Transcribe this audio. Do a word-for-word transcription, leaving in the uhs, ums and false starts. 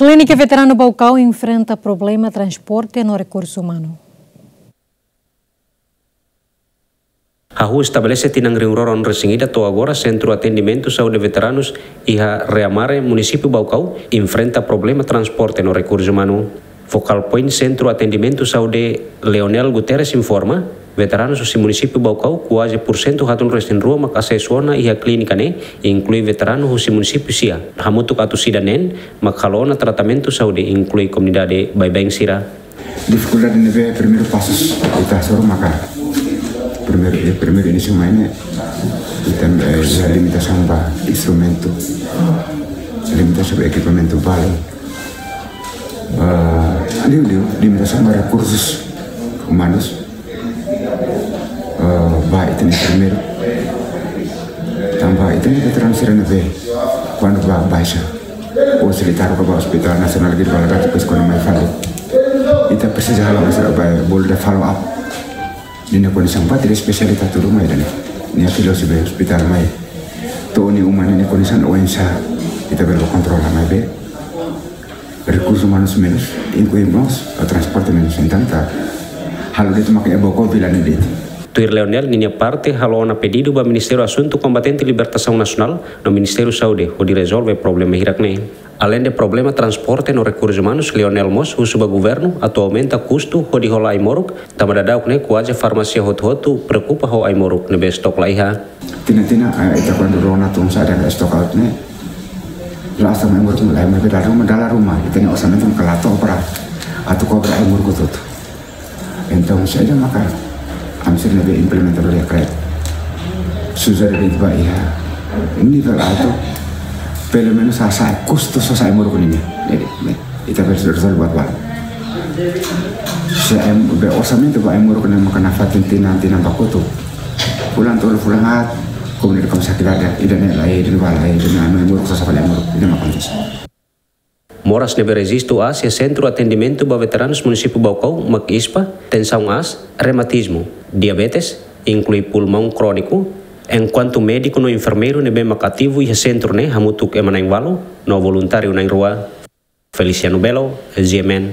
Klínika Veteranu Baucau enfrenta problema transporte no rekursu umanu. Hahú estabelese tinan rihun rua ruanulu-resin-ida to'o agora Sentru Atendimentu Saúde Veteranus iha Reamare, Munisípiu Baucau, enfrenta problema transporte no rekursu umanu. Fokál poin Sentru Atendimentu Saúde, Leonel Guterres, informa, veteranus husi Munisípiu Baucau kuaze pursentu haatnulu-resin-rua mak asesu ona iha klínika ne'e, inklui veteranu husi munisípiu sira. Hamutuk atus ida neen mak halo ona tratamentu saúde, inklui komunidade baibain sira. Difikuldade ne'ebé primeiru pasus ita hasoru maka primeiru, eh, primeiru inísiu mai ne'e ita, eh, iha limitasaun ba instrumentu, limitasaun ba ekipamentu balu, ah, liu, liu, limitasaun ba rekursus umanus, ah, ba ita-nia enfermeiru, tanba ita-nia veteranu sira ne'ebé kuandu ba baixa, ou se liu taruk ka ba Hospital Nasionál Guido Valadares, depois kuandu mai fali, ita presiza halo masa ba bolu de'it follow up. Ninia kondisaun ba tiha espesialista tudu mai dani. Nia fila husi be ospitál mai. To'o nia uma ninia kondisaun oinsá, ita bele kontrola maibé rekursu umanus menus, inklui mós, o transporte menus. Entaun ita halo de'it maka iha Baucau vila ne'e de'it. Tuir Leonel ninia parte, halo ona pedidu ba Ministériu Asuntu Kombatente Libertasaun Nasionál no Ministériu Saúde hodi rezolve problema hirak ne'e. Aleinde problema transporte no rekursu umanus, Leonel mós husu ba governu atu aumenta kustu hodi hola ai-moruk, tanba daudaun ne'e kuaze farmásia hotu-hotu preokupa ho ai-moruk ne'ebé estok la iha. Tinan-tinan, eh, ita kuandu rona tun saida stock out ne'e, la'ós tanba ai-moruk la iha, maibé dala ruma, dala ruma ita-nia orsamentu maka la to'o para atu kobra ai-moruk hotu-hotu. Entaun saida maka ami sira ne'ebé implementa lori iha Kreb, sujere de'it ba iha nivel altu, pelumenus hasa'e kustu sasa'e ai-moruk ninia. Jadi, ita bele rezolve buat balu. Se em, be orsamentu ba ai-moruk ne'e maka nafatin tinan-tinan ba kotuk, fulan tolu, fulan haat, komunidade kami sakit ada, ida-ne'e la iha, ida-ne'e ba la iha, ida-ne'e ai-moruk, sasa'e fali ai-moruk, ida-ne'e maka akontese. Moras ne'ebé rejistu aas iha Sentru Atendimentu ba Veteranus Munisípiu Baucau mak ispa, tensaun aas, reumatizmu, diabetes, inklui pulmaun króniku, enkuantu médiku no enfermeiru ne'ebé mak ativu iha sentru ne'e hamutuk ema na'in-ualu no voluntáriu na'in-rua. Feliciano Belo, G M N.